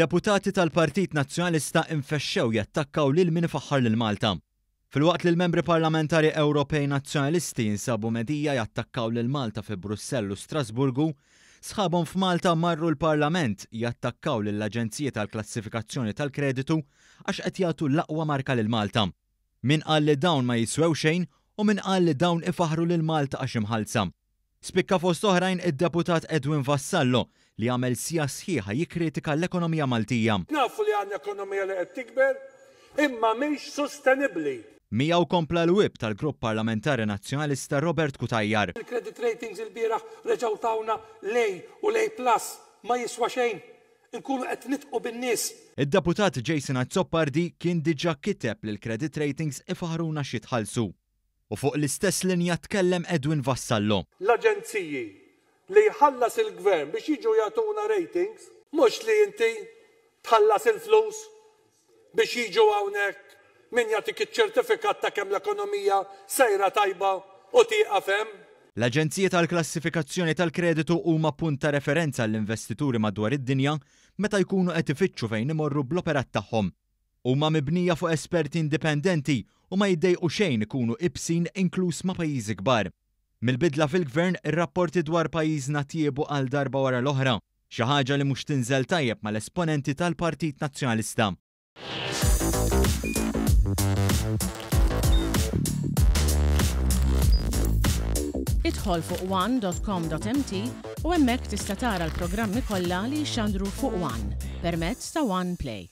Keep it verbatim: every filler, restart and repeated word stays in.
Deputati tal-Partit Nazzjonalista infexxew jattakkaw lil min ifaħħar lil Malta. Filwaqt li l-membri parlamentari Ewropej Nazzjonalisti jinsabu medija jattakkaw lil Malta fi Brussell u Strasburgu, sħabhom f'Malta marru l-Parlament jattakkaw lill-Aġenziji tal-Klassifikazzjoni tal-Kreditu għax qed jagħtu l-aqwa marka lil Malta. Min qal li dawn ma jiswew xejn u min qal li dawn ifaħru lil Malta għax imħallsa. Spikka fost oħrajn id-deputat Edwin Vassallo li għamel siegħa sħiħa jikkritika l-ekonomija Maltija. Nafu li għandna ekonomija li qed tikber, imma mhix sostenibbli. Miegħu kompla l-whip tal-Grupp Parlamentari Nazzjonalista Robert Cutajar. Il-credit ratings il-bieraħ reġgħu tawna l-A u l-A plus ma jiswa xejn. Inkunu qed nidħqu bin-nies. Id-deputat Jason Azzopardi kien diġà kiteb li l-credit ratings ifaħruna x'jitħallsu. U fuq l-istess linja tkellem Edwin Vassallo. L-aġenziji li jħallas il-gvern biex jiġu jagħtuna ratings, mhux li inti tħallas il-flus biex jiġu hawnhekk min jagħtik iċ-ċertifikat ta' kemm l-ekonomija sejra tajba u tieqaf hemm. L-Aġenziji tal-Klassifikazzjoni tal-Kreditu huma punt ta' referenza għall-investituri madwar id-dinja meta jkunu qed ifittxu fejn imorru bl-operat tagħhom. Huma mibnija fuq esperti indipendenti u ma jiddejqu xejn ikunu ibsin inkluż ma' pajjiżi kbar. Mill-bidla fil-gvern, ir-rapporti dwar pajjiżna tjiebu għal darba wara l-oħra, xi ħaġa li mhux tinżel tajjeb mal-esponenti tal-Partit Nazzjonalista. Idħol fuq one dot com dot M T u hemmhekk tista' tara l-programmi kollha li jxandru fuq One permezz ta' One Play.